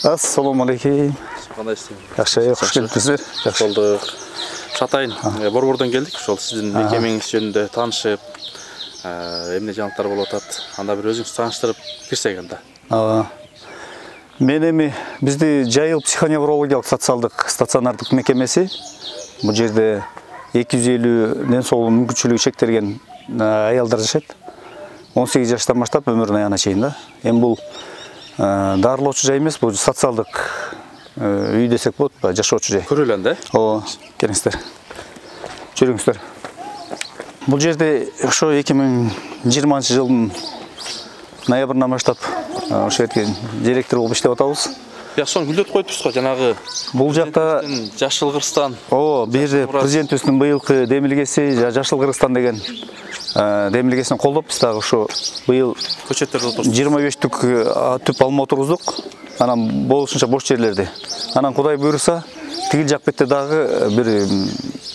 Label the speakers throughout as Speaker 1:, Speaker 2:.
Speaker 1: Assalomu alaykum.
Speaker 2: Кандайсыз?
Speaker 1: Жакшы, кош келипсиздер.
Speaker 2: Жакшы болдук. Шатайын, Борбордон келдик. Ошол сиздин мекемеңиз жөнүндө таанышып, эмне жаңылыктар болуп атат? Анда бир өзүңүз тааныштырып кирсек анда.
Speaker 1: Мен эми бизди Жайыл психоневрологиялык социалдык стационардык мекемеси. Бул жерде 250 соолуу мүмкүнчүлүгү чектелген аялдар жашайт. 18 жаштан баштап өмүрүнүн аягына чейин да. Эми бул дарылоочу жай эмес, бул социалдык үй десек болот, жашоочу жай.
Speaker 2: Көрөлү анда.
Speaker 1: Келиңиздер. Жүрүңүздөр. Бул жерде ошо 2020-жылдын ноябрынан баштап ошо жерге директор болуп иштеп атабыз.
Speaker 2: Соны гүлдөтүп коюптурсуз го, жанагы
Speaker 1: бул жакта
Speaker 2: Жашыл Кыргызстан.
Speaker 1: Бул жерде президентибиздин быйылкы демилгеси Жашыл Кыргызстан деген демилгесин колдоп, биз дагы ошо быйыл
Speaker 2: көчөттөрдү отурдук.
Speaker 1: 25 түп алма отургуздук. Анан болушунча бош жерлерди. Анан Кудай буйруса, тигил жак бетте дагы бир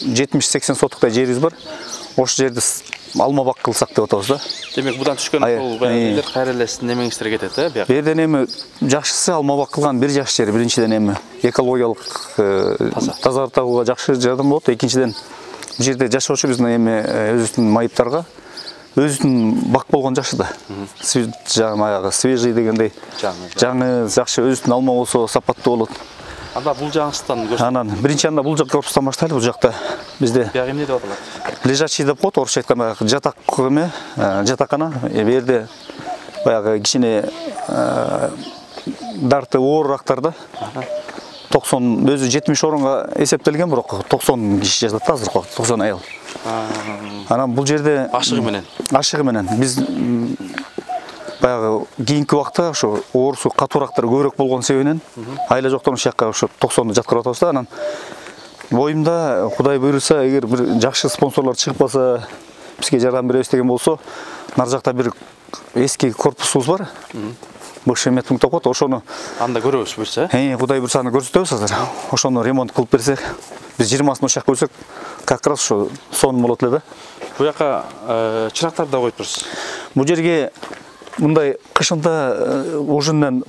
Speaker 1: 70-80 соттуктай жерибиз бар. Ошол жерди алма бак кылсак деп атабыз да.
Speaker 2: Демек будан түшкөн ошол баягы кайра эле сиздин немеңиздерге кетет, бияк.
Speaker 1: Бу жерден эми жакшысы алма бак кылган бир жакшы жери. Биринчиден эми экологиялык тазартууга жакшы жардам болот. Экинчиден бул жерде жашоочу биздин эми өзүбүздүн майыптарга өзүнүн бак болгон жакшы да. Жанагы свежий дегендей жаңы жакшы өзүнүн алма болсо сапаттуу болот.
Speaker 2: Анда бул жагыңыздан көрсөтүңүз.
Speaker 1: Анан биринчи анда бул корпустан баштайлы. Бул жакта бизде
Speaker 2: бияк эмне деп аталат?
Speaker 1: Лежачий деп коет, орусча айтканда жатак эме, жатакана. Бу жерде баягы кичине дарты оорурактар да. 90 өзү 70 орунга эсептелген, бирок 90 киши жатат азыркы убакытта, 90 аял. Анан бул жерде ашыгы менен биз баягы кийинки убакта ошо оорусу катуурактар көбүрөөк болгон себебинен айла жоктон ошол жакка ошо 90ду жаткырып атабыз да. Анан боюмда Кудай буйруса, эгер бир жакшы спонсорлор чыгып калса, бизге жардам беребиз деген болсо, нар жакта бир эски корпусубуз бар. Бывший медпункт деп коет, ошону
Speaker 2: анда көрөбүз буйруса.
Speaker 1: Кудай буйруса аны көрсөтөбүз азыр. Ошону ремонт кылып берсек, биз 20-сын ошол жакка көрсөк, как раз ошо сон болот эле да.
Speaker 2: Бу жака чырактарды да коюп турсуз.
Speaker 1: Бул жерге мындай кышында ужиннен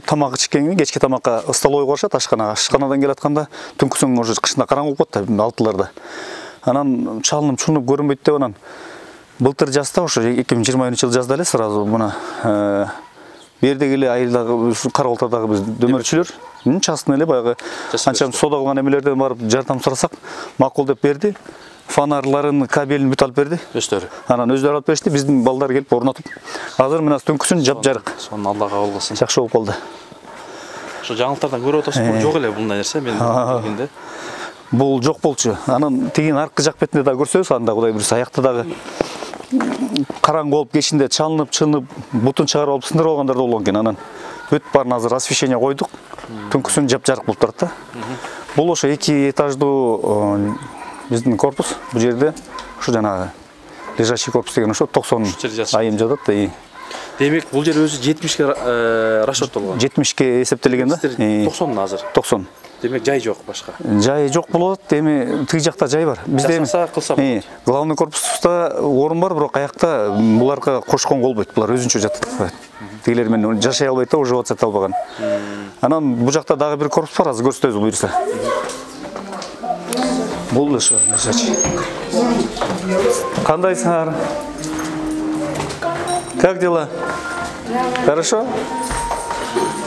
Speaker 1: тамак ичкенге, кечки тамакка столовый коюшат ашканага. Ашканадан келатканда түнкүсүн уже кышында караңгы болуп калат да, 6-ларда. Анан чалынып чунуп көрүнбөйт деп анан былтыр жазда ошо 2020-жылы жазда эле сразу мына бердеги эле айылдагы Карабалтадагы биз дөмөрчүлөр частный эле баягы анча сода кылган эмелерден барып жардам сурасак макул деп берди. Фонарларын, кабелин бүт алып берди.
Speaker 2: Өздөрү.
Speaker 1: Анан өздөрү алып беришти, биздин балдар келип орнотуп. Азыр мына түнкүсүн жап-жарык.
Speaker 2: Сонун Аллага кабыл кылсын.
Speaker 1: Жакшы болуп калды.
Speaker 2: Ошо жаңылыктардан көрүп атасыз, жок эле мындай нерсе мен билгенде.
Speaker 1: Бул жок болчу. Анан тигин аркы жак бетинде да көрсөбүз, анда Кудай буйруса аякта дагы караңгы болуп кечинде чалынып, бутун чыгарып алып сындырып алгандар да болгон экен. Анан бүт баарын азыр освещение койдук. Түнкүсүн жап-жарык болуп турат да. Бул ошо 2 этаждуу биздин корпус. Бул жерде ошо жанагы лежачий корпус деген ошо 90 айым жатат да.
Speaker 2: Демек бул жер өзү 70ке расчеттолгон.
Speaker 1: 70ке эсептелген да.
Speaker 2: 90 азыр.
Speaker 1: 90.
Speaker 2: Демек жай жок башка.
Speaker 1: Жай жок болот, эми тиги жакта жай бар. Бизде
Speaker 2: кылса
Speaker 1: главный корпуста орун бар, бирок аякта буларга кошкон болбойт. Булар өзүнчө жатат. Тигилер менен жашай албайт да, уже ватсат албаган. Анан бул жакта дагы бир корпус бар, азыр көрсөтөбүз буйруса. Бул ошо лежачий. Кандайсыңар? Как дела? Хорошо?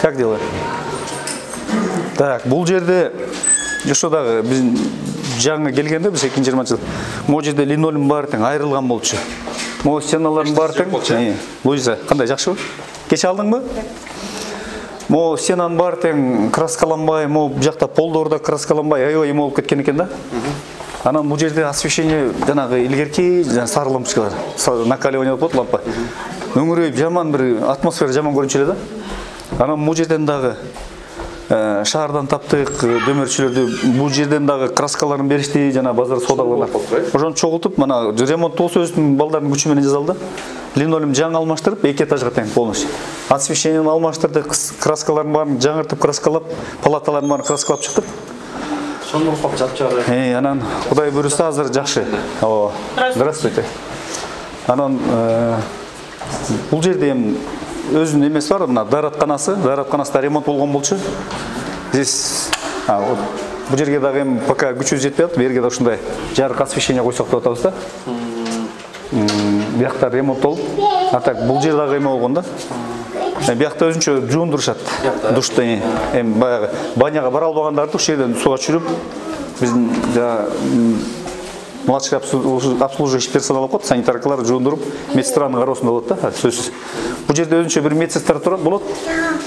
Speaker 1: Как дела? Так, бул жерде ошо дагы биз жаңы келгенде биз 2020-жылы могу жерде линолеум бар тең айрылган болчу. Могу стеналардын баары тең. Луиза, кандай жакшыбы? Кече алдыңбы? Могу стенанын баары тең краскаланбай, могу жакта полдордо краскаланбай, аябай эме болуп кеткен экен да. Анан бул жерде освещение жанагы илгерки сары лампочкалар, накаливание болуп лампа. Өңүрөйүп жаман бир атмосфера жаман көрүнчү эле да. Анан бул жерден дагы шаардан таптык дөмөрчүлөрдү, бул жерден дагы краскаларын беришти, жана базар содалар. Ошону чогултуп, мына ремонт болсо өзүнүн балдардын күчү менен жасалды. Линолеум жаңы алмаштырып, 2 этажга тең полностью. Освещениени алмаштырдык, краскаларын баарын жаңыртып краскалап, палаталарын баарын краскалап чыктык.
Speaker 2: Сонун кап жапчары.
Speaker 1: Анан Кудай буйруса азыр жакшы. Здравствуйте. Анан бул жерде эми өзүнүн эмеси бар, мына дааратканасында ремонт болгон болчу. Здесь вот бул жерге дагы эми пока күчүбүз жетпей атат, берге да ушундай жарык освещение койсок деп атабыз да. Биякта ремонт болуп, а так бул жер дагы эме болгон да. Биякта өзүнчө жуундурушат. Душта эми баягы баняга бара албагандарды ушул жерден суга түшүрүп, биздин младший обслуживающий персонал коет, санитаркалар жуундуруп, медсестранын кароосунда болот да, сөзсүз. Бул жерде өзүнчө бир медсестра болот.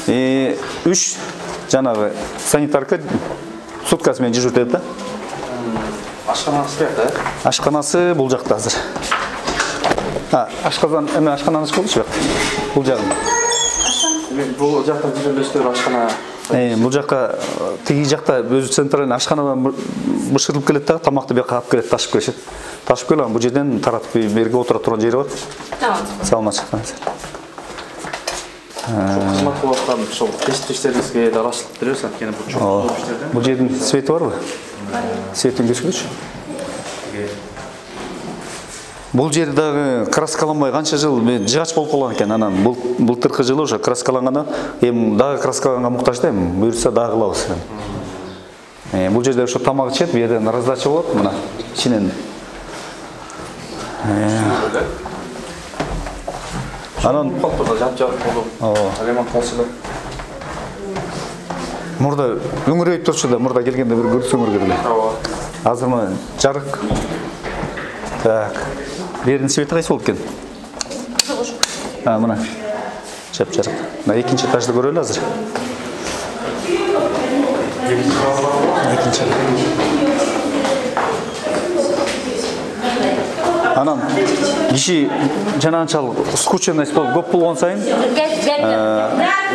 Speaker 1: 3 жанагы санитарка суткасы менен дежурить да.
Speaker 2: Ашканасы бияқта?
Speaker 1: Ашканасы бул жакта азыр. Ашказан эме ашкананы ачкылчу бияк. Бул жагын.
Speaker 2: Бул жакта жүрөлөстөр ашкана.
Speaker 1: Бул жакка тиги жакта өзү центральный ашканадан бышырылып келет да, тамакты бияка алып келет, ташып келишет. Ташып келип, бул жерден таратып берге отура турган жери бар. Салма чыккансыз.
Speaker 2: Кызмат кылып аткан ошол тестиштерибизге да ырашылык беребиз, анткени бул чоң иштерден.
Speaker 1: Бул жердин свети барбы? Светин көрсөтчү. Бул жер дагы краскаланбай канча жыл жыгач болуп калган экен. Анан былтыркы жылы уже краскалангандан эми дагы краскаланганга муктаж да, эми буйрса дагы кылабыз. Бул жерде ошо тамак ичет, бу жерден раздача болот, мына ичинен. Анан
Speaker 2: жап-жап болуп, ремонт кылсылар.
Speaker 1: Мурда өңүрөйүп турчу да, мурда келгенде бир көрсөңөр керек. Азыр мына жарык. Так. Бердин свети кайсы болуп экен? Мына. Жап-жарык. Мына экинчи этажды көрөлү азыр. Экинчи. Анан киши жанагынчалык скученность болуп көп болгон сайын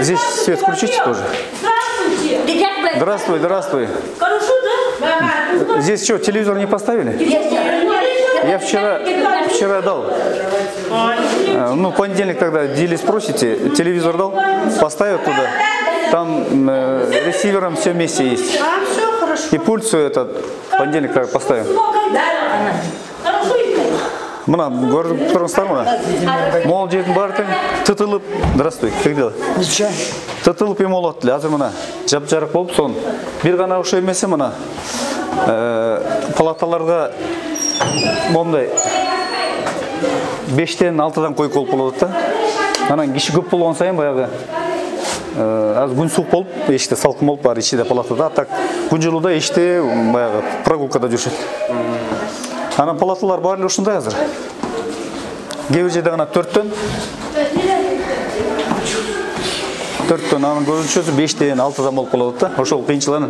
Speaker 1: здесь свет включите тоже. Здравствуй, здравствуй. Здесь что, телевизор не поставили? Я вчера дал. Ну, в понедельник тогда Дили спросите, телевизор дал, поставил туда. Там ресивером все вместе есть. И пульт все этот в понедельник тогда поставим. Мына көрүп турсаңдар мына. Мол жердин баары тең тытылып, здравствуй, как дела? Ничего. Тытылып эме болот эле. Азыр мына жап-жарык болуп, сон бир гана ошо эмеси мына палаталарга мондай 5-тен 6-дан койко болуп болот да. Анан киши көп болгон сайын баягы аз күн суук болуп, эшикте салкын болуп, баары ичиде палатада. Так күн жылууда эшикте баягы прогулкада жүрүшөт. Анан палаталар баары ушундай азыр. Кээ бир жерде гана 4-төн. 4-төн, анын көбүнчөсү 5-тен 6-дан болуп калат да. Ошол кыйынчылыгын.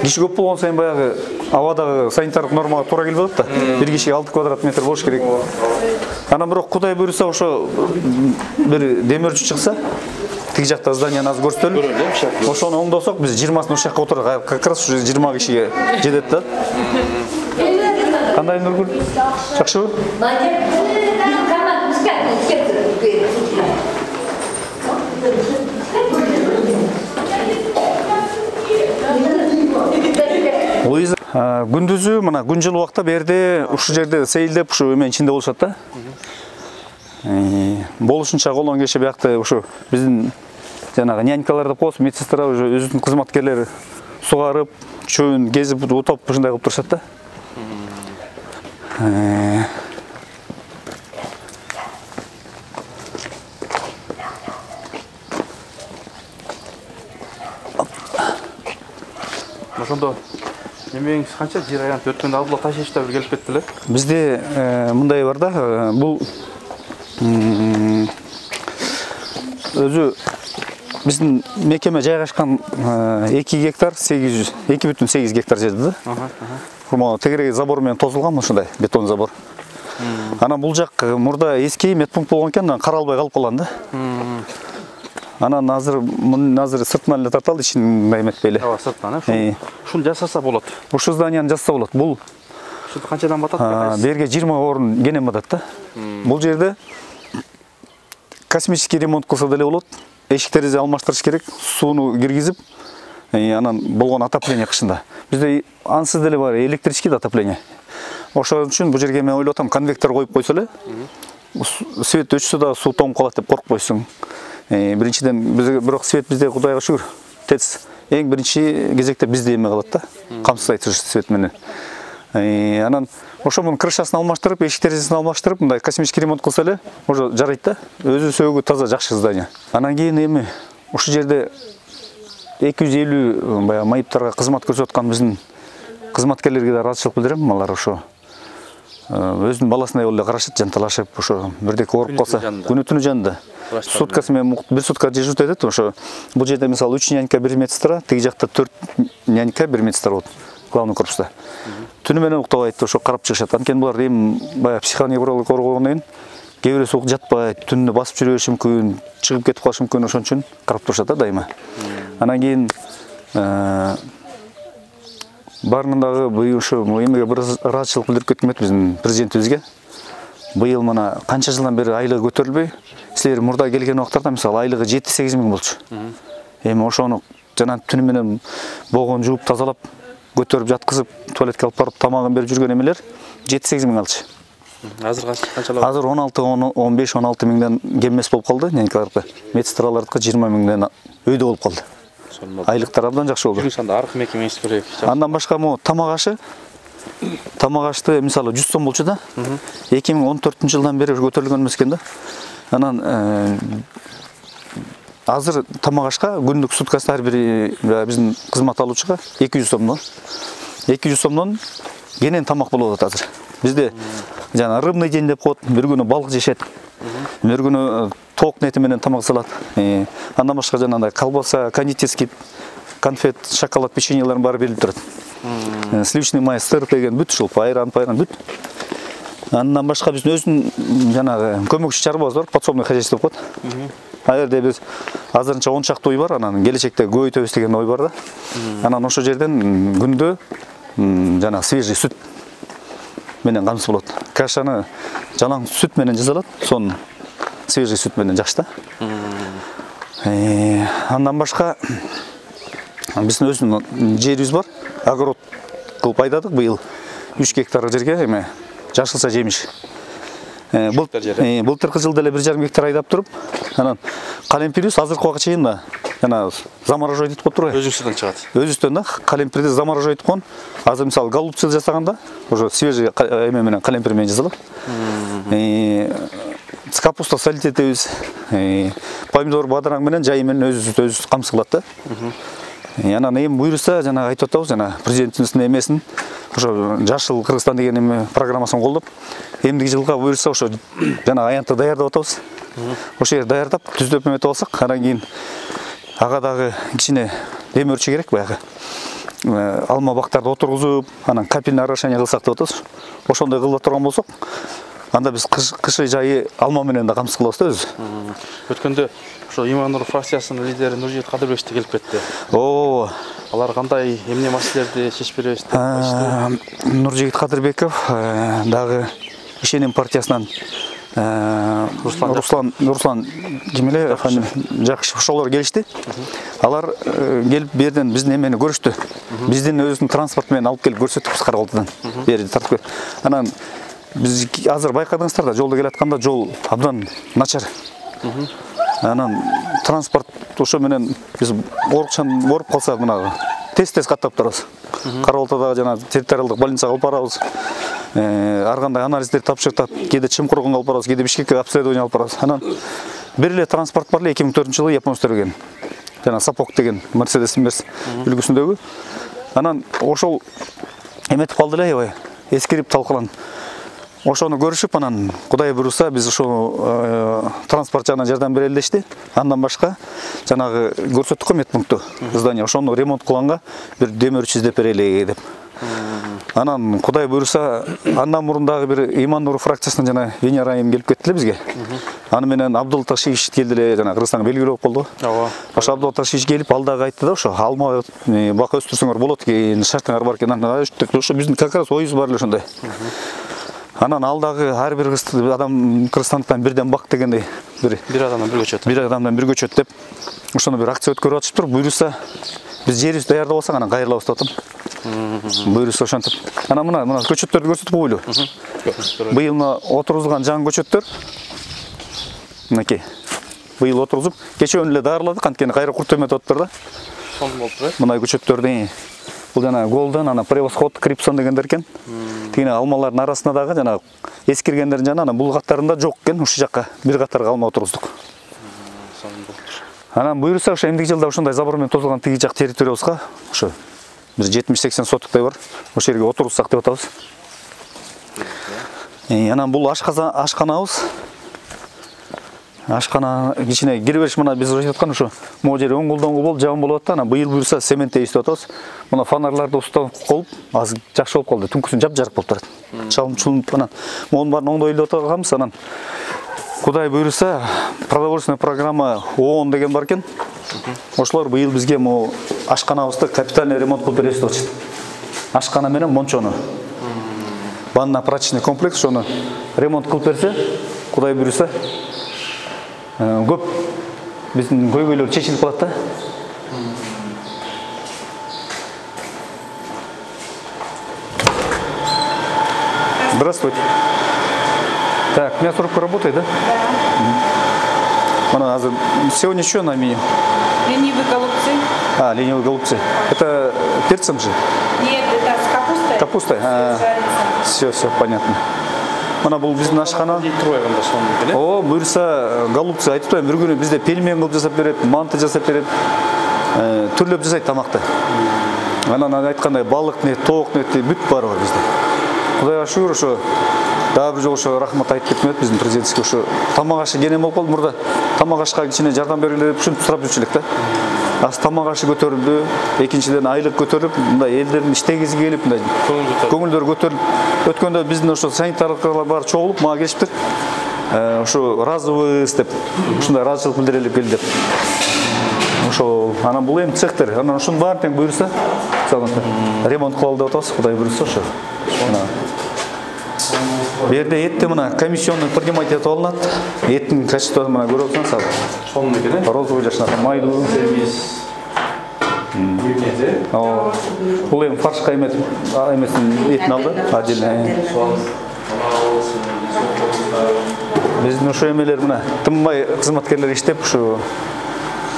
Speaker 1: Киши көп болгон сайын баягы абадагы санитардык нормага туура келип атат да. Бир кишиге 6 квадрат метр болуш керек. Анан бирок Кудай буйруса ошо бир демирчү чыкса, тиги жакта зданияны аз көрсөтөлүп, ошону оңдосок биз 20-сын ушул жакка отурак, как раз уже 20 кишиге жетет да. Кандай Нургүл? Жакшыбы? Луиза, күндүзү мына күн жылы убакта берде ушул жерде сейилдеп ушу эменин ичинде болушат да. Болушунча колон кеше биякта ушу биздин жанагы нянькалар деп коебуз, медсестра уже өзүнүн кызматкерлери сугарып, чөбүн кезип, утап ушундай кылып турушат да.
Speaker 2: Ошондо эмеңиз канча жер аянт өткөндө алдыла ташыйчта бир келип кетти эле.
Speaker 1: Бизде мындай бар да, бул өзү биздин мекеме жайгашкан 2 гектар 2,8 гектар жерде да. Мону тегереги забор менен тосулган ушундай бетон забор. Анан бул жак мурда эски медпункт болгон экен, каралбай калып калган да. Анан азыр сыртынан эле тарталды, ичин мындай эметпей эле.
Speaker 2: Ооба, сыртынан, ушуну жасаса болот.
Speaker 1: Ушул зданияны жасаса болот. Бул
Speaker 2: ушул канчадан батат?
Speaker 1: Берге 20 орун кенен батат да. Бул жерде космический ремонт кылса деле болот. Эшиктерди алмаштырыш керек, сууну киргизип, анан болгон отопление кышында. Бизде ансыз деле бар электрический отопление. Ошон үчүн бул жерге мен ойлоп атам, конвектор коюп койсо эле, свет өчсө да суу тоңуп калат деп коркпойсуң. Биринчиден бирок свет бизде Кудайга шүгүр. ТЭЦ эң биринчи кезекте бизде эме калат да. Камсыз айтыш свет менен. Анан ошо мунун крышасын алмаштырып, эшик терезесин алмаштырып, мындай космический ремонт кылса эле уже жарайт да. Өзү сөөгү таза жакшы здание. Анан кийин эми ушул жерде 250 баягы майыптарга кызмат көрсөтүп аткан биздин кызматкерлерге да ыраазычылык билдирем. Алар ошо өзүнүн баласындай болуп карашат, жанталашып, ошо бирдеке ооруп калса, күнү-түнү жанында. Суткасы менен 1 сутка дежурить этет. Ошо бул жерде мисалы 3 нянька 1 медсестра, тиги жакта 4 нянька 1 медсестра болот. Главный корпуста. Түнү менен уктабайт, ошо карап чыгышат. Анткени булар эми баягы психоневролог коргоогондон кийин кээ бирөөсү жатпайт, түнүнө басып жүрө бериши мүмкүн, чыгып кетип калышы мүмкүн, ошон үчүн карап турушат да дайыма. Анан кийин баарынан дагы быйыл ушу эмеге бир ыраазычылык билдирип кеткем биздин президентибизге. Быйыл мына канча жылдан бери айлыгы көтөрүлбөй, силер мурда келген убактарда мисалы айлыгы 7-8 миң болчу. Эми ошону жана түнү менен богон жууп тазалап, көтөрүп жаткызып, туалетке алып барып тамагын берип жүргөн эмелер 7-8 миң алчу.
Speaker 2: Азыр канчалап?
Speaker 1: Азыр 15-16 миңден кем эмес болуп калды, нянькалардыкы. Медсестралардыкы 20 миңден өйдө болуп калды. Айлыктар абдан жакшы болду.
Speaker 2: Жүрүш анда аркы мекемеңиз керек.
Speaker 1: Андан башка могу тамак ашты мисалы 100 сом болчу да. 2014-жылдан бери көтөрүлгөн эмес экен да. Анан азыр тамак ашка күндүк суткасы ар бир биздин кызмат алуучуга 200 сомдон. 200 сомдон кенен тамак болуп атат азыр. Бизде жана рыбный день деп коет, бир күнү балык жешет. Бир күнү ток нети менен тамак салат. Андан башка жанагындай колбаса, кондитерский, конфет, шоколад, печеньелердин баары берилип турат. Сливочный май, сыр деген бүт ушул, айран бүт. Андан башка биздин өзүнүн жанагы көмөкчү чарбабыз бар, подсобный хозяйство деп коет. Ал жерде биз азырынча 10 чакты ой бар, анан келечекте көбөйтөбүз деген ой бар да. Анан ошол жерден күндө жана свежий сүт менен камсыз болот. Кашаны жалаң сүт менен жасалат, сонун свежий сүт менен жакшы да. Андан башка биздин өзүнүн жерибиз бар. Огород кылып айдадык быйыл 3 гектар жерге эме жашылча жемиш. Былтыркы жылда эле 1,5 гектар айдап туруп, анан калемпирибиз азыркы убакка чейин да жана заморожой деп коет турбайбы?
Speaker 2: Өзүңүздөн чыгат.
Speaker 1: Өзүбүздөн да калемпирди заморожой деп коет. Азыр мисалы голубцы жасаганда уже свежий эме менен калемпир менен жасалат. Капуста солить этебиз. Помидор бадыраң менен жайы менен өзүбүз камсыз кылат да. Анан эми буйруса жана айтып атабыз, жана президентибиздин эмесин ошо Жашыл Кыргызстан деген эме программасын колдоп, эмдиги жылга буйруса ошо жана аянтты даярдап атабыз. Ошо жерди даярдап, түздөп эметип алсак, анан кийин ага дагы кичине демөөрчү керек баягы. Алма бактарды отургузуп, анан капельный орошение кылсак деп атабыз. Ошондой кылып турган болсок, анда биз кышы жайы алма менен да камсыз кылабыз да өзү.
Speaker 2: Өткөндө ошо Иман Нур фракциясынын лидери Нуржигит Кадырбек да келип кетти. Алар кандай эмне маселелерди чечип беребиз деп айтышты.
Speaker 1: Нуржигит Кадырбеков дагы Ишеним партиясынан Руслан ким эле Жакышев ошолор келишти. Алар келип берден биздин эмени көрүштү. Биздин өзүнүн транспорт менен алып келип көрсөттүк Карабалтыдан. Бери тартып. Анан биз азыр байкадыңыздар да, жолдо келатканда жол абдан начар. Анан транспорт ошо менен биз ооруп калса мына тез каттап турабыз. Карабалтадагы жана территориалдык больницага алып барабыз. Ар кандай анализдер тапшыртат, кээде Чымкурганга алып барабыз, кээде Бишкекке обследование алып барабыз. Анан бир эле транспорт бар эле 2004-жылы японецтер берген. Жана Сапок деген Mercedes үлгүсүндөгү. Анан ошол эметип калды эле аябай эскирип талкаланып. Ошону көрүшүп, анан Кудай буйруса биз ошо транспорт жагынан жардам берели дешти. Андан башка жанагы көрсөттүк медпункту здание, ошону ремонт кылганга бир демөөрчү издеп берели деп. Анан Кудай буйруса андан мурун дагы бир Иман Нур фракциясынан жана Венера айым келип кетти эле бизге. Аны менен Абдул Ташевич келди эле, жана Кыргызстанга белгилүү болуп калды. Ооба. Ошо Абдул Ташевич келип ал дагы айтты да, ошо алма бак өстүрсөңөр болот экен, шартыңар бар экен. Ошо биздин как раз оюбуз бар эле ошондой. Анан ал дагы ар бир адам Кыргызстандыктан бирден бак дегендей бир адамдан бир көчөт. Бир адамдан бир көчөт деп ошону бир акция өткөрүп атышыптыр. Буйруса биз жерибизди даярдап алсак анан кайрылабыз деп атам. Буйруса ошентип. Анан мына көчөттөрдү көрсөтүп коелу. Быйыл отыргузулган жаңы көчөттөр. Мынакей. быйыл отургузуп, кечээ эле даарладык, анткени кайра курт эметип атыптыр да.
Speaker 2: Сонун болуп турат.
Speaker 1: Мындай көчөттөрдү. Бул жана Golden, ана Превосход, Крипсон дегендер экен. Тигине алмалардын арасында дагы жана эскиргендердин жана бул каттарында жок экен, ушул жакка бир катарга алма отургуздук.
Speaker 2: Сонун болуп.
Speaker 1: Анан буюрса ошо эмдиги жылда ушундай забор менен тозулган тиги жак территориябызга ошо бир 70-80 сотуктай бар. Ошол жерге отургузсак деп атабыз. Анан бул ашканабыз. Ашкана кичине кирбеш мына биз айтып аткан ошо могу жери оңголдонгу болуп, жагым болуп атты. Анан быйыл буюрса цемент эстеп атабыз. Мына фонарларды устанып коюп, азыр жакшы болуп калды. Түнкүсүн жап-жарык болуп турат. Чалым-чулунуп анан монун баарын оңдойлоп атканбыз. Анан Кудай буюрса, продовольственная программа ООН деген бар экен. Ошолор быйыл бизге могу ашканабызды капитальный ремонт кылып беребиз деп атышты. Ашкана менен мончону. Банно-прачечный комплекс ошону ремонт кылып берсе, Кудай буюрса, көп биздин көйгөйлөр чечилип калат да. Здравствуйте. Так, у меня трубка работает, да? Да. Сегодня что на меню?
Speaker 3: Ленивые голубцы.
Speaker 1: Ленивые голубцы. Это перцем же?
Speaker 3: Нет, это с капустой.
Speaker 1: Капустой? Все, понятно. Мына бул биздин ашкана. О, буюрса голубцы айтып атам, бир күнү бизде пельмен кылып жасап берет, манты жасап берет. Түрлөп жасайт тамакты. Анан айткандай балык нет, тоок нет, бүт бар бизде. Кудайга шүгүр ошо дагы бир жолу ошо рахмат айтып кетмек биздин президентке ошо тамак ашы кенен болуп калды мурда. Тамак ашка кичине жардам бергиле деп ушинтип сурап жүрчү элек да. Аз тамак ашы көтөрүлдү, экинчиден айлык көтөрүлүп, мындай элдердин иштегиси келип, мындай көңүлдөр көтөрүлүп, өткөндө биздин ошо санитарлар бар чогулуп, мага келишиптир. Ошо разыбыз деп, ушундай ыраазычылык билдирели кел деп. Ошо анан бул эми цехтер, анан ушунун баары тең буюрса, ремонт кылалы деп атабыз, Кудай буюрса ошо. Бу жерде этти мына комиссионный принимать этип алынат. Эттин качествосун мына көрүп атсаңыз,
Speaker 2: Сонун экен,
Speaker 1: розовый жашнакан майлуу. Бул эми фаршка эмесин этин алды, отдельно. Биздин ошо эмелер мына тынбай кызматкерлер иштеп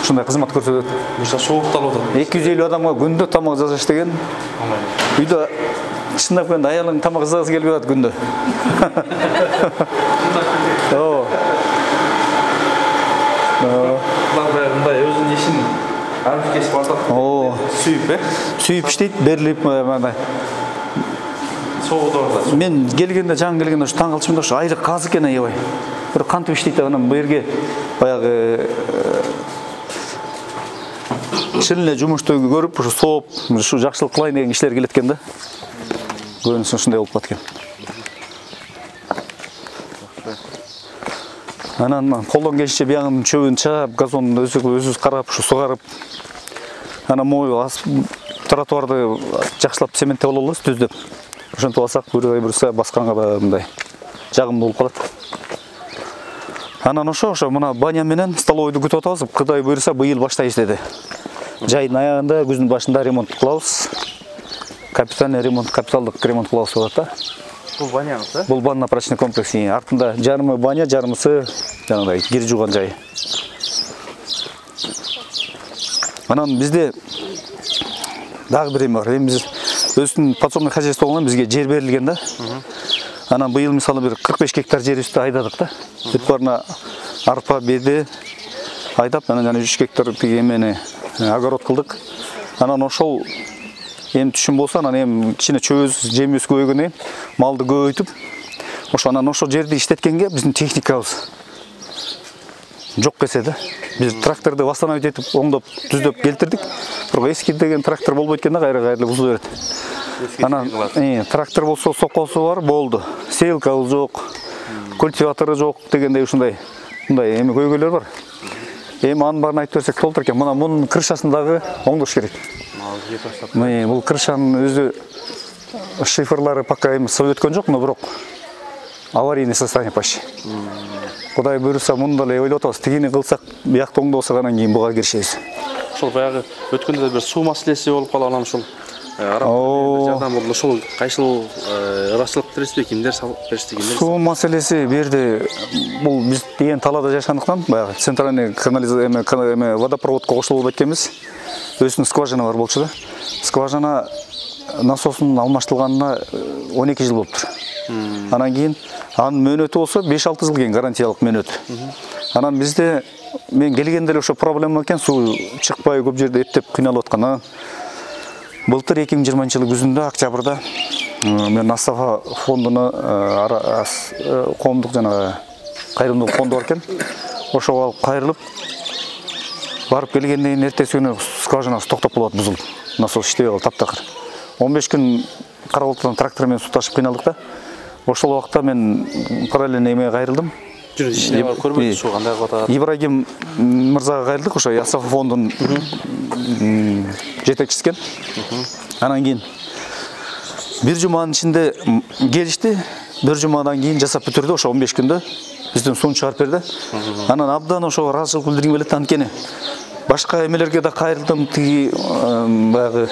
Speaker 1: ушундай кызмат көрсөтөт.
Speaker 2: Буюрса соокталып атат.
Speaker 1: 250 адамга күндө тамак жасаш деген. Үйдө чындап келгенде аялың тамак жасагысы келбей атат күндө.
Speaker 2: Мындай өзүнүн ишин ар кесип атат. Сүйүп иштейт, берилип мындай. Соодорда.
Speaker 1: Мен келгенде, жаңы келгенде ушу таң калчумда ушу айлык аз экен аябай. Бир кантип иштейт анан бу жерге баягы чын эле жумушту көрүп, ушу сооп, ушу жакшылык кылайын деген кишилер келет экен да. Көрүнүшү ушундай болуп калат экен. Анан колдон келишинче биягынын чөбүн чаап, газонун өзүбүз карап, ушу сугарып. Анан могу тротуарды жакшылап цементтеп алабыз, түздөп. Ошентип алсак, буюрса басканга да мындай жагымдуу болуп калат. Анан ошо мына баня менен столовойду күтүп атабыз. Кудай буюрса быйыл баштайбыз деди. Жайдын аягында, күздүн башында ремонт кылабыз. Капитальный ремонт, капиталдык ремонт кылабыз деп атат.
Speaker 2: Бул баняңыз, да?
Speaker 1: Бул банно-прачечный комплекс. Артында жарымы баня, жарымысы жанагындай кир жууган жайы. Анан бизде дагы бир эме бар. Эми биз өзүнүн подсобный хозяйство болгон бизге жер берилген да. Анан быйыл мисалы бир 45 гектар жерибизди айдадык да. Бүт барына арпа, беди айдап, анан жана 3 гектар тиги эмени огород кылдык. Анан ошол эми түшүм болсо, анан эми кичине чөбүз, жемибиз көбөйгөндөн малды көбөйтүп, анан ошол жерди иштеткенге биздин техникабыз жок келсе да. Биз тракторду восстановить этип, оңдоп, түздөп келтирдик. Бирок эски деген трактор болбойт экен да, кайра бузулуп берет. Анан трактор болсо сокосу бар, болду. Сейлкабы жок, культиватору жок дегендей ушундай эми көйгөйлөр бар. Эми анын баарын айтып берсек толтур экен. Мына мунун крышасын дагы оңдош керек. Бул крышанын өзү шифрлары пока эми сып өткөн жок, но бирок аварийный состояние почти. Кудай буюрса муну деле ойлоп атабыз. Тигини кылсак, биякты оңдосок анан кийин буга киришебиз.
Speaker 2: Ошол баягы өткөндө бир суу маселеси болуп калган, ошол жардам болду. Ошол кайсыл ырашчылык бересизби? Кимдер беришти, кимдер?
Speaker 1: Суу маселеси берди. Бул биз деген талаада жашагандыктан баягы центральный канализация водопроводко кошулуп эткенбиз. Өзүнүн скважина бар болчу да. Скважина насосунун алмаштырылганына 12 жыл болуптур. Анан кийин анын мөөнөтү болсо 5-6 жыл кийин гарантиялык мөөнөт. Анан бизде мен келгенде эле ошо проблема экен, суу чыкпай көп жерде эптеп кыйналып аткан. Былтыр 2020 күзүндө октябрда мен Астафа фондуна коомдук жанагы кайрымдуулук фонду бар экен. Ошого алып кайрылып барып келгенден кийин эртеси күнү скважинасы токтоп калат, бузулуп. Насос иштебей калды, таптакыр. 15 күн Карабалтыдан трактор менен суу ташып кыйналдык да. Ошол убакта мен параллельно эмеге кайрылдым.
Speaker 2: Жүрүп ишине барып көрбөйсүз, ошо кандай кылып атат?
Speaker 1: Ибрагим мырзага кайрылдык, ошо Астафа фондунун жетекчиси экен. Анан кийин бир жуманын ичинде келишти. Бир жумадан кийин жасап бүтүрдү, ошо 15 күндө бизден сууну чыгарып берди. Анан абдан ошо ыраазычылык билдиргим келет, анткени башка эмелерге да кайрылдым, тиги баягы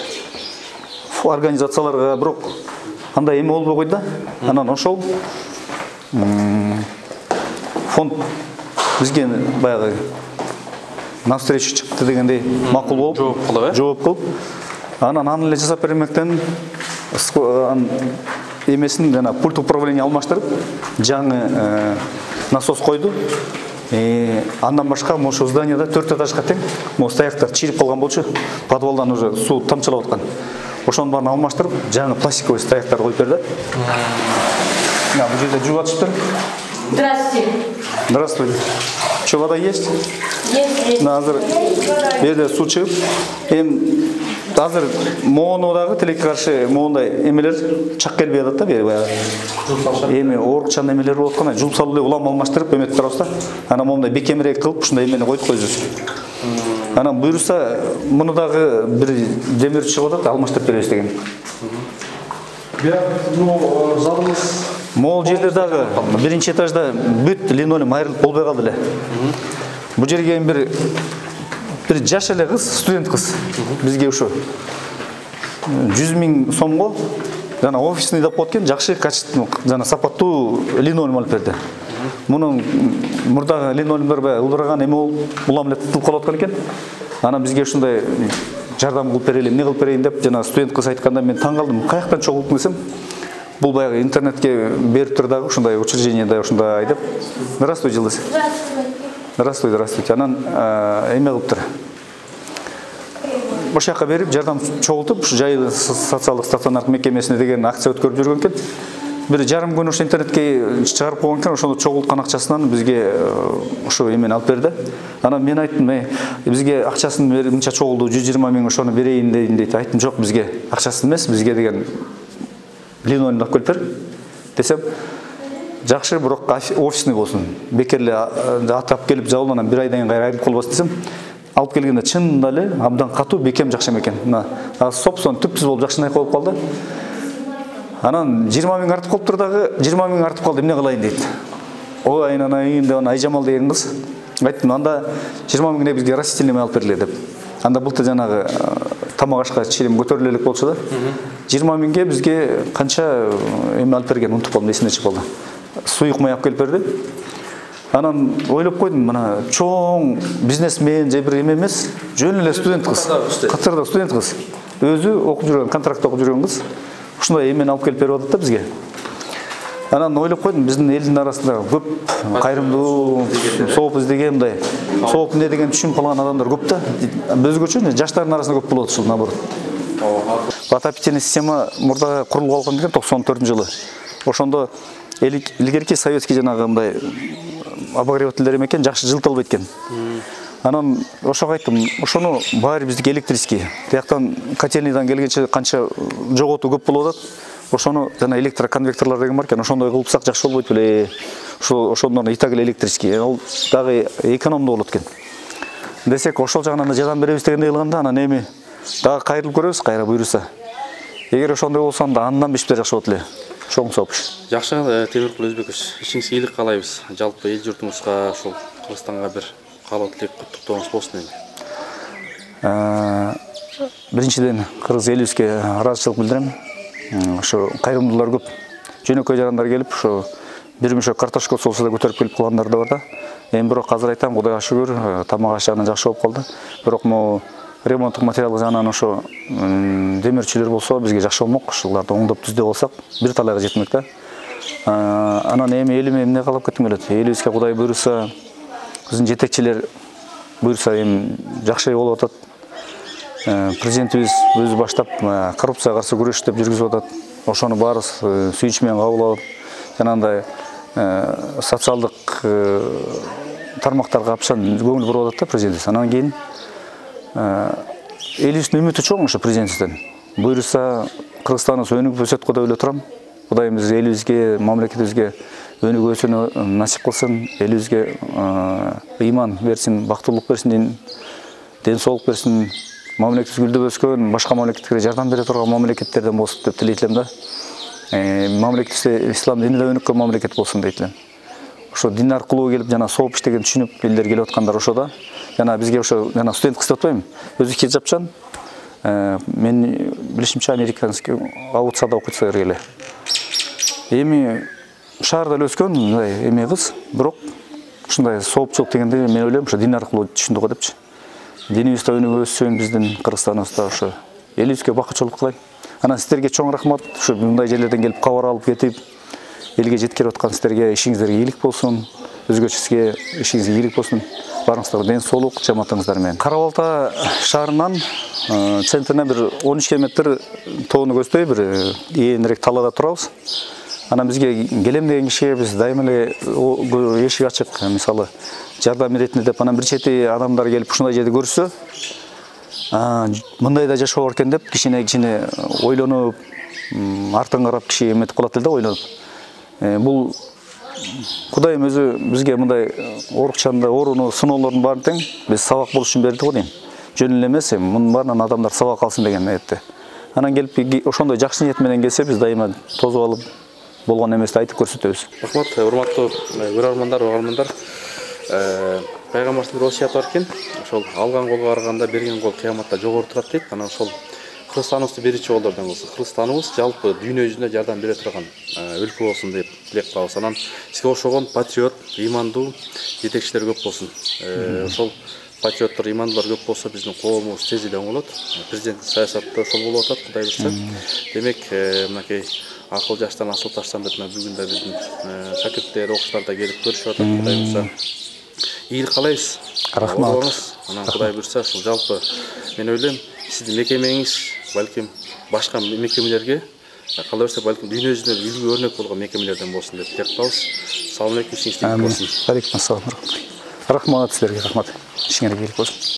Speaker 1: организацияларга, бирок андай эме болбой койду да. Анан ошол фонд бизге баягы навстречу чыкты дегендей макул болуп, жооп кылып, анан аны эле жасап бермектен эмесин жана пульт управления алмаштырып, жаңы насос койду. Андан башка ошо зданияда 4 этажга тең могу стояктар чирип калган болчу. Подвалдан уже суу тамчылап аткан. Ошонун баарын алмаштырып, жаңы пластиковый стояктар коюп берди. Бул жерде жууп атышыптыр.
Speaker 3: Здравствуйте.
Speaker 1: Здравствуйте. Что, вода есть?
Speaker 3: Есть.
Speaker 1: Азыр берде суу чыгып, азыр моуну дагы тилекке каршы моундай эмелер чак келбей атат да, бери баягы. Эми оорукчан эмелер болуп аткан, жуп салып эле улам алмаштырып эметип турабыз да. Анан моундай бекемирээк кылып ушундай эмени койдук өзүбүз. Анан буюрса муну дагы бир демир чыгып атат, алмаштырып беребиз деген.
Speaker 2: Залыңыз
Speaker 1: Могул жерде дагы биринчи этажда бүт линолеум айрылып болбой калды эле. Бул жерге бир жаш эле кыз, студент кыз бизге ушу 100 000 сомго жана офисный деп коет экен, жакшы качественный жана сапаттуу линолеум алып берди. Мунун мурдагы линолеумдар баягы ылдыраган эме болуп, улам эле тытылып калып аткан экен. Анан бизге ушундай жардам кылып берели, эмне кылып берейин деп жана студент кыз айтканда мен таң калдым. Каяктан чогулттум десем, бул баягы интернетке берип тур дагы ушундай учреждениеде ушундай деп. Здравствуйте, Жылдыз. Здравствуйте, здравствуйте. Анан эме кылыптыр. Ошол жака берип жардам чогултуп, ушу жайылы социалдык стационардык мекемесине деген акция өткөрүп жүргөн экен. Бир жарым күн ошо интернетке чыгарып койгон экен, ошондо чогулткан акчасынан бизге ошо эмени алып берди. Анан мен айттым, бизге акчасын берип мынча чогулду, 120 000 ошону берейин дейт. Айттым, жок, бизге акчасын эмес, бизге деген линолеум алып келип бер десем, жакшы, бирок офисный болсун. Бекерле атап келип жабылгандан бир айдан кийин кайра айрылып калбасын десем, алып келгенде чынында эле абдан катуу, бекем, жакшы экен. Мына сопсон түпсүз болуп жакшынай коюп калды. Анан 20 000 артып калыптыр дагы, 20 000 артып калды, эмне кылайын дейт. Ой, айнанайын деп Айжамал деген кыз. Айттым, анда 20 000 бизге растительный алып берле деп. Анда былтыр жанагы тамак ашка чилим көтөрүлө элек болчу да. 20 000 бизге канча эме алып берген, унутуп калдым, эсине чыгып калды. Суюк май алып келип берди. Анан ойлоп койдум, мына чоң бизнесмен же бир эме эмес, жөн эле студент кыз. Катарда студент кыз. Өзү окуп жүргөн, контракт окуп жүргөн кыз. Ушундай эмени алып келип берип атат да бизге. Анан ойлоп койдум, биздин элдин арасында көп кайрымдуу, сооп издеген, мындай сооп эмне деген түшүнүп калган адамдар көп да. Өзгөчө жаштардын арасында көп болот ушул наоборот. Отопительный система мурда курулуп алган экен 94-жылы. Ошондо илгерки советский жанагы мындай обогревательдер экен, жакшы жылтылбайт экен. Анан ошого айттым, ошону баары биздики электрический. Тияктан котельныйдан келгенче канча жоготуу көп болуп атат. Ошону жана электроконвекторлор деген бар экен, ошондой кылсак жакшы болбойт беле. Ошондон итак эле электрический. Ал дагы экономдуу болот экен. Десек, ошол жагынан да жардам беребиз дегендей кылганда, анан эми дагы кайрылып көрөбүз, кайра буйруса. Эгер ошондой болсо, анда андан бешиптер жакшы болот эле. Чоң сооп.
Speaker 2: Жакшы, Темиркул Өзбекович, ишиңизге ийгилик каалайбыз. Жалпы эл журтубузга, ошол Кыргызстанга бир каалоо тилек, куттуктооңуз болсун эми.
Speaker 1: биринчиден кыргыз элибизге ыраазычылык билдирем. Ошо кайрымдуулар көп. Жөнөкөй жарандар келип, ошо бир мешок картошка болсо да көтөрүп келип калгандар да бар да. Эми бирок азыр айтам, Кудайга шүгүр, тамак аш жагынан жакшы болуп калды. Бирок могу ремонттук материал жагынан ошо демирчилер болсо бизге жакшы болмок. Ушуларды оңдоп түздөп алсак, бир талайга жетмек да. Анан эми элиме эмне калап кетким келет? Элибизге Кудай буйруса, биздин жетекчилер буйруса эми жакшы болуп атат. Президентибиз өзү баштап коррупцияга каршы күрөш деп жүргүзүп атат. Ошону баарыбыз сүйүнүч менен кабыл алып, жанагындай социалдык тармактарга апшан көңүл буруп атат да президентибиз. Анан кийин элибиздин үмүтү чоң ошо президентибизден. Буйруса Кыргызстаныбыз өнүгүп өсөт деп эле турам. Кудайымыз элибизге, мамлекетибизге өнүгүп өсүүнү насип кылсын. Элибизге ыйман берсин, бактылык берсин, ден соолук берсин. Мамлекетибиз гүлдөп өскөн, башка мамлекеттерге жардам бере турган мамлекеттерден болсун деп тилейт элем да. Мамлекетибизде ислам дини да өнүккөн мамлекет болсун дейт элем. Ошо дин аркылуу келип жана сооп иштеген түшүнүп элдер келип аткандар ошо да. Жана бизге ошо жана студент кыз деп атпайбы? Өзү хиджапчан. Мен билишимче американский аутсада окуйт эле. Эми шаарда эле өскөн мындай эме кыз, бирок ушундай соопчулук дегенде мен ойлойм ошо дин аркылуу түшүндү го депчи. Динибизде өнүгүп өссүн, биздин Кыргызстаныбызда ошо элибизге бакытчылык кылайм. Анан сиздерге чоң рахмат. Ушу мындай жерлерден келип кабар алып кетип, элге жеткирип аткан сиздерге ишиңиздерге ийгилик болсун. Өзгөчүсүгө ишиңизге ийгилик болсун. Барыңыздарга ден соолук, жамаатыңыздар менен. Кара Балта шаарынан центринен бир 13 км тоону көздөй бир ээринирээк талаада турабыз. Анан бизге келем деген кишиге биз дайыма эле эшик ачык. Мисалы, жардам беретине деп анан бир чети адамдар келип ушундай жерди көрсө, мындай да жашоо бар экен деп кичине ойлонуп, артын карап киши эметип калат эле да, ойлонуп. Бул Кудайым өзү бизге мындай оорукчанда ооруну, сыноолордун баарын тең биз сабак болуш үчүн берди го дейм. Жөн эле эмес, мунун баарынан адамдар сабак алсын деген ниетте. Анан келип ошондой жакшы ниет менен келсе, биз дайыма тосуп алып болгон эмести айтып көрсөтөбүз.
Speaker 2: Рахмат, урматтуу көрөрмандар, угармандар. Пайгамбардын бир осуяты бар экен. Ошол алган колго караганда берген кол кыяматта жогору турат дейт. Анан ошол Кыргызстаныбызды биринчи колдордон кылсын. Кыргызстаныбыз жалпы дүйнө жүзүнө жардам бере турган өлкө болсун деп тилек кылабыз. Анан бизге ошогон патриот, ыймандуу жетекчилер көп болсун. Ошол патриоттор, ыймандуулар көп болсо биздин коомубуз тез эле оңолот. Президенттик саясатта ошол болуп атат, Кудай буйрса. Демек, мынакей акыл жаштан асыл таштан деп бүгүн да биздин шакирттер, окуучулар да келип көрүшүп атат, Кудай буйрса. Ийгилик каалайбыз.
Speaker 1: Рахмат.
Speaker 2: Анан Кудай буйрса, ушул жалпы мен ойлойм, сиздин мекемеңиз балким башка мекемелерге кала берсе балким дүйнө жүзүнө үлгү өрнөк болгон мекемелерден болсун деп тилек кылабыз. Салам алейкум, ишиңиз тийгилик болсун.
Speaker 1: Алейкум ассалам. Рахмат силерге, рахмат. Ишиңерге ийгилик болсун.